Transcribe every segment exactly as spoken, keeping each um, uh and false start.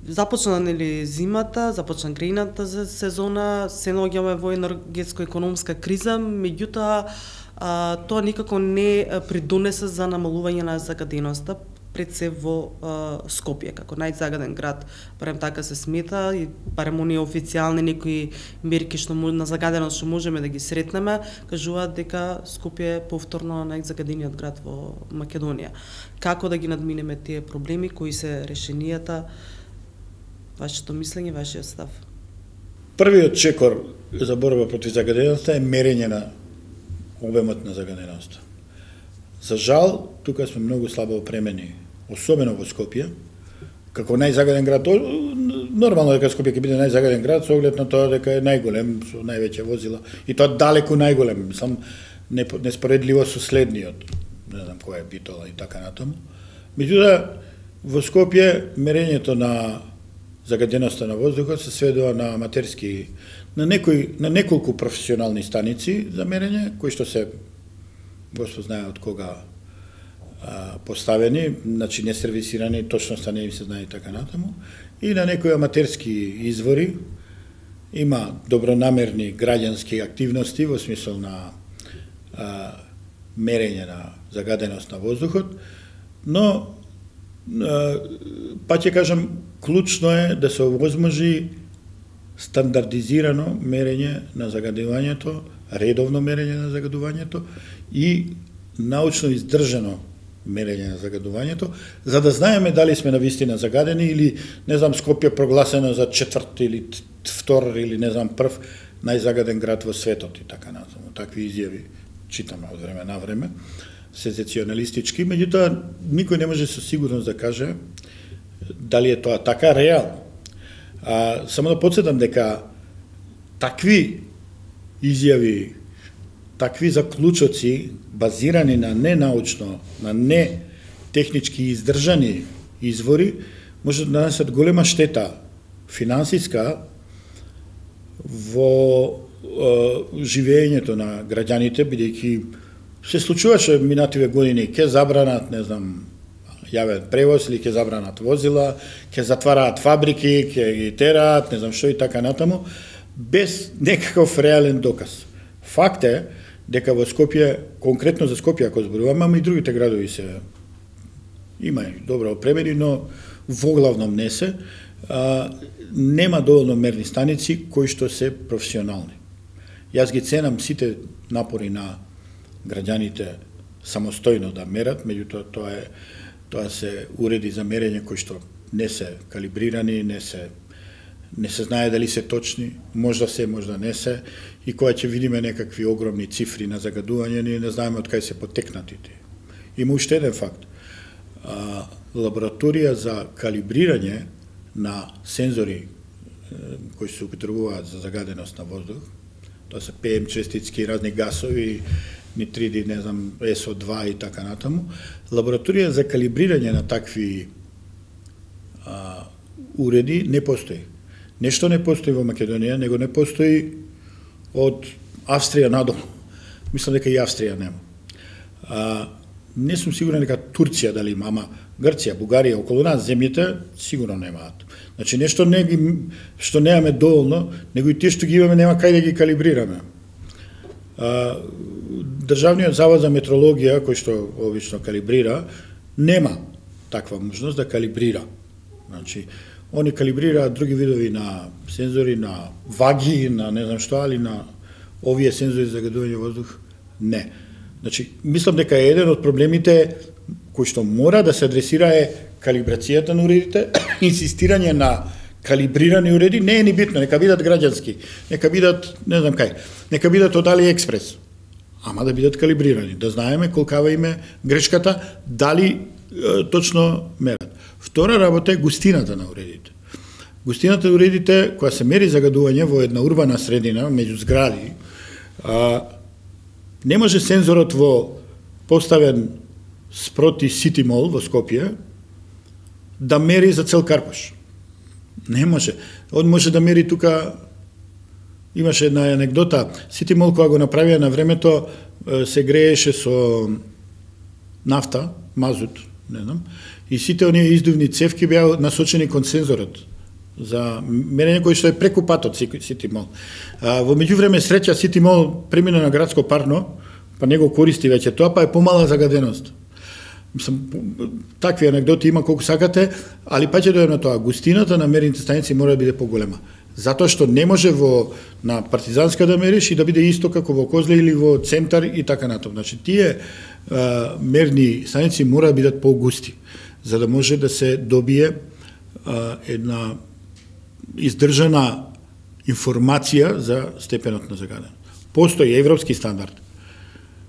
започна нели зимата, започна грејната сезона, се наоѓаме во енергетско-економска криза, меѓутоа а, тоа никако не придонесе за намалување на загаденоста, пред се во а, Скопје, како најзагаден град, барем така се смета, и барем оние официјални некои мерки што на загаденост што можеме да ги сретнеме, кажуваат дека Скопје е повторно најзагадениот град во Македонија. Како да ги надминеме тие проблеми, кои се решенијата, вашето мислење, вашиот став? Првиот чекор за борба против загаденоста е мерење на обемот на загаденоста. За жал, тука сме многу слабо опремени, особено во Скопје, како најзагаден град. Нормално дека Скопје ќе биде најзагаден град со оглед на тоа дека е најголем, со највеќе возила, и тоа далеку најголем, сам неспоредливо со следниот, не знам кој е Битола и така натаму. Меѓутоа, во Скопје мерењето на загаденоста на воздухот се сведува на аматерски, на некои, на неколку професионални станици за мерење, кои што се Господ знае од кога а, поставени, значи не сервисирани, точноста не им се знае и така натаму, и на некои аматерски извори има добронамерни граѓански активности во смисол на а, мерење на загаденост на воздухот, но а, па ќе кажам, клучно е да се овозможи стандардизирано мерење на загадувањето, редовно мерење на загадувањето и научно издржано мерење на загадувањето, за да знаеме дали сме навистина загадени или, не знам, Скопје прогласено за четврт или втор или не знам прв најзагаден град во светот и така натаму. Такви изјави читаме од време на време, сензационалистички, меѓутоа никој не може со сигурност да каже дали е тоа така реално. А, само да подсетам дека такви изјави, такви заклучоци, базирани на ненаучно, на не технички издржани извори, може да нанесат голема штета финансиска во е, живеењето на граѓаните, бидејќи се случуваше минативе години, ке забранат, не знам, јавен превоз или ке забранат возила, ке затвараат фабрики, ке ги тераат, не знам што и така натаму, без некаков реален доказ. Факт е дека во Скопје, конкретно за Скопје ако зборуваме, ама и другите градови се има и добро опремени, но воглавном не се, а, нема доволно мерни станици кои што се професионални. Јас ги ценам сите напори на граѓаните самостојно да мерат, меѓутоа тоа е тоа се уреди за мерење кои што не се калибрирани, не се не се знае дали се точни, можда се, можда не се, и кога ќе видиме некакви огромни цифри на загадување, ние не знаеме од кај се потекнатите. Има уште еден факт. А, лабораторија за калибрирање на сензори кои се употребуваат за загаденост на воздух, тоа се Пе Ем честицки, разни гасови, нитриди, не знам, Ес О два и така натаму, лабораторија за калибрирање на такви а, уреди не постои. Нешто не постои во Македонија, него не постои од Австрија надолу. Мислам дека и Австрија нема. А, не сум сигурен дека Турција дали има, ама Грција, Бугарија, околу нас земјите сигурно немаат. Значи нешто не ги, што немаме доволно, него и тие што ги имаме нема кај да ги калибрираме. А, Државниот завод за метрологија, кој што обично калибрира, нема таква можност да калибрира. Значи, они калибрираат други видови на сензори, на ваги, на не знам што, али на овие сензори за загадување воздух, не. Значи, мислам дека е еден од проблемите кој што мора да се адресира е калибрацијата на уредите, инсистирање на калибрирани уреди, не е ни битно, нека бидат граѓански, нека бидат, не знам кај, нека бидат од AliExpress, ама да бидат калибрирани, да знаеме колкава им е грешката, дали е, точно мерат. Втора работа е густината на уредите. Густината на уредите, која се мери загадување во една урбана средина, меѓу згради, а, не може сензорот во поставен спроти Сити Мол во Скопје да мери за цел Карпаш. Не може. Он може да мери тука. Имаше една анекдота. Сити Мол кога го направија на времето се грееше со нафта, мазут, не знам, и сите оние издувни цевки беа насочени кон сензорот за мерење кој што е преку патот Сити Мол. А, во меѓувреме среќа Сити Мол премина на градско парно, па не го користи веќе тоа, па е помала загаденост. Мислам, такви анекдоти има колку сакате, али па ќе дојдем на тоа. Густината на мерните станици мора да биде поголема. Затоа што не може во на Партизанска да мериш и да биде исто како во Козле или во центар и така натаму. Значи тие а, мерни станици мора да бидат погусти, за да може да се добие а, една издржана информација за степенот на загаденост. Постои европски стандард.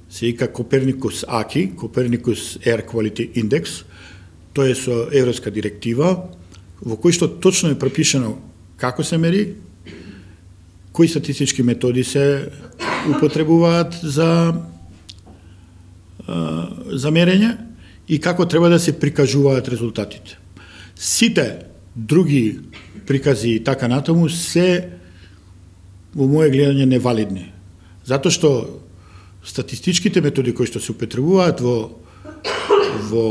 Се вика Copernicus А К И, Copernicus Air Quality Index. Тоа е со европска директива, во кој што точно е пропишано како се мери, кои статистички методи се употребуваат за за мерење и како треба да се прикажуваат резултатите. Сите други прикази и така натаму се во моје гледање невалидни. Затоа што статистичките методи кои што се употребуваат во во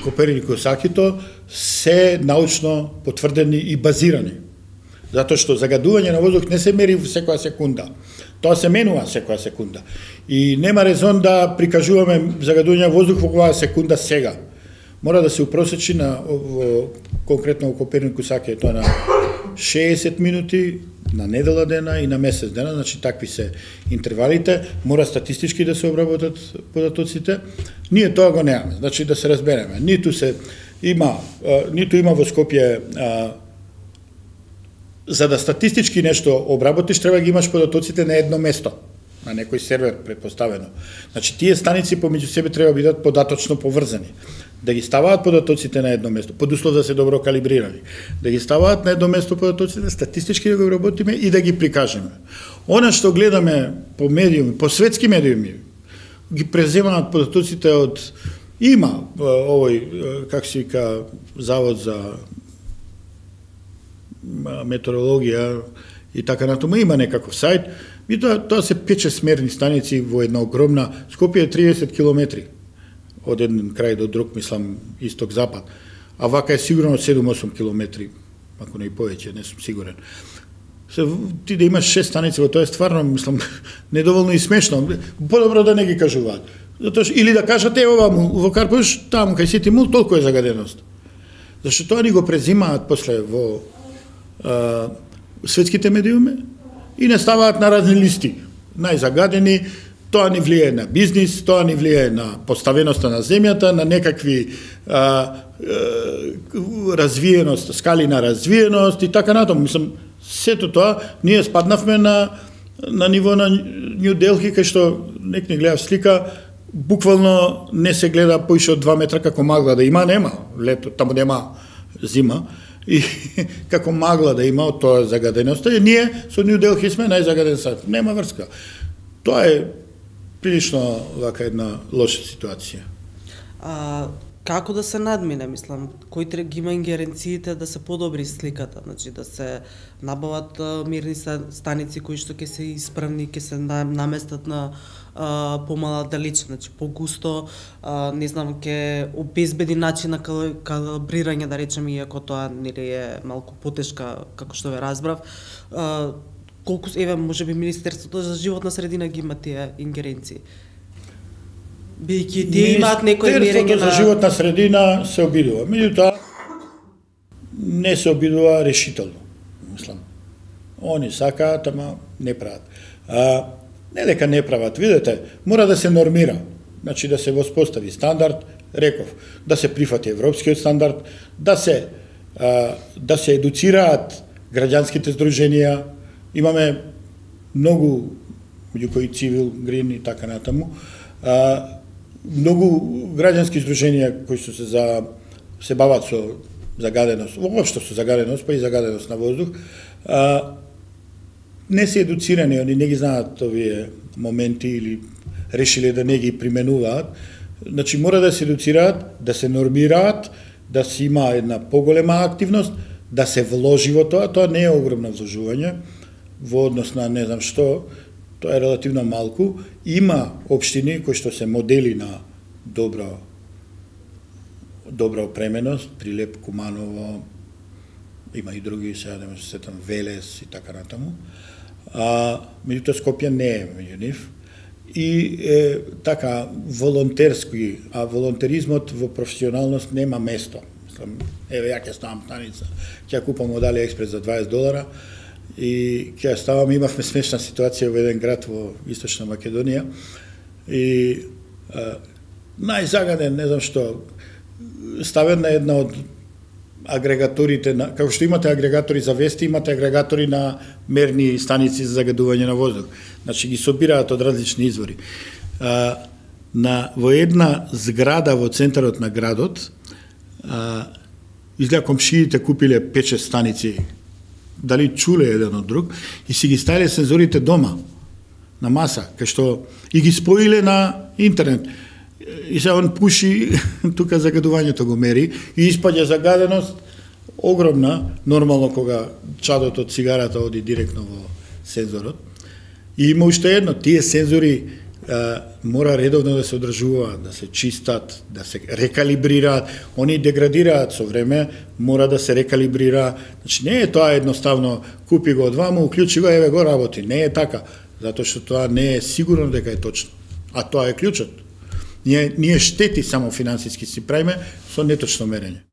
Коперникус А К И се научно потврдени и базирани. Затоа што загадување на воздух не се мери во секоја секунда. Тоа се менува секоја секунда. И нема резон да прикажуваме загадување на воздух во оваа секунда сега. Мора да се упросечи на во, конкретно во Коперникус А К И тоа на шеесет минути на недела дена и на месец дена, значи такви се интервалите, мора статистички да се обработат податоците. Ние тоа го немаме, значи да се разбереме. Ниту се има, а, ниту има во Скопје, а, за да статистички нешто обработиш, треба ги имаш податоците на едно место, на некој сервер предпоставено. Значи тие станици помеѓу себе треба да бидат податочно поврзани. Да ги ставаат податоците на едно место, под услов да се добро калибрирани. Да ги ставаат на едно место податоците, статистички да го работиме и да ги прикажеме. Она што гледаме по медиуми, по светски медиуми, ги преземаат податоците од има овој, как се вика, завод за метеорологија и така натаму, има некаков сајт, и тоа, тоа се пет-шест мерни станици во една огромна, Скопје е триесет километри од еден крај до друг, мислам, исток-запад, а вака е сигурно седум-осум километри, ако не и повеќе, не сум сигурен. Се, ти да имаш шест станици, во тоа е стварно, мислам, недоволно и смешно, подобро да не ги кажуваат. Затоа, или да кажат, е, ова во Карпуш, таму, кај Сити Мол, толку е загаденост. Зашто тоа ни го презимаат после во а, светските медиуми и не ставаат на разни листи, најзагадени. Тоа ни влие на бизнис, тоа ни влие на поставеноста на земјата, на некакви а, а, развиеност, скали на развиеност и така натаму. Мислам, сето тоа, ние спаднавме на, на ниво на Нью Делхи, кај што нек не гледав слика, буквално не се гледа поише од два метра како магла да има, нема лето, таму нема зима, и како магла да има од тоа загаденоста, и ние со Нью Делхи сме најзагаден сад. Нема врска. Тоа е прилично вака една лоша ситуација. А, како да се надмине, мислам, кој треба ги има ингеренциите да се подобри сликата, значи да се набават мирни станици кои што ќе се исправни, ќе се наместат на а, помала далеч, значи погусто, а, не знам, ќе обезбеди начин на калибрирање, да речеме, иако тоа нели е малку потешка, како што ве разбрав. А, колку, еве, може би Министерството за животна средина ги има тие ингеренции? Бидејќи тие имаат некој мерење на... за животна средина се обидува. Меѓутоа, не се обидува решително, мислам. Они сакаат, ама не прават. А, не дека не прават, видете, мора да се нормира. Значи да се воспостави стандард, реков, да се прифати европскиот стандард, да се, а, да се едуцираат граѓанските здруженија. Имаме многу, меѓу кои Цивил, Грин и така натаму, а, многу граѓански здруженија кои што се за се бават со загаденост, воопшто со загаденост, па и загаденост на воздух, а, не се едуцирани, они не ги знаат овие моменти или решиле да не ги применуваат. Значи мора да се едуцираат, да се нормираат, да се има една поголема активност, да се вложи во тоа, тоа не е огромно вложување во однос на не знам што, тоа е релативно малку. Има општини кои што се модели на добро добра опременост, Прилеп, Куманово, има и други, сега да се сетам, Велес и така натаму. А, меѓутоа Скопје не е меѓу нив. И е, така, волонтерски, а волонтеризмот во професионалност нема место. Мислам, еве, ја ќе ставам станица, ќе купам од AliExpress за дваесет долара и ќе ставам, имавме смешна ситуација во еден град во Источна Македонија и а, најзагаден, не знам што, ставен на една од агрегаторите, на, како што имате агрегатори за вести, имате агрегатори на мерни станици за загадување на воздух. Значи ги собираат од различни извори. А, на, во една зграда во центарот на градот, а, изгледа комшиите купиле пет-шест станици, дали чуле еден од друг, и си ги ставиле сензорите дома, на маса, кај што и ги споиле на интернет. И се он пуши, тука загадувањето го мери, и испаѓа загаденост огромна, нормално кога чадот од цигарата оди директно во сензорот. И има уште едно, тие сензори а, мора редовно да се одржуваат, да се чистат, да се рекалибрираат, они деградираат со време, мора да се рекалибрира. Значи не е тоа едноставно, купи го од ваму, уклучи го, еве го работи. Не е така, затоа што тоа не е сигурно дека е точно. А тоа е клучот. Ние, ние штети само финансиски си правиме со неточно мерење.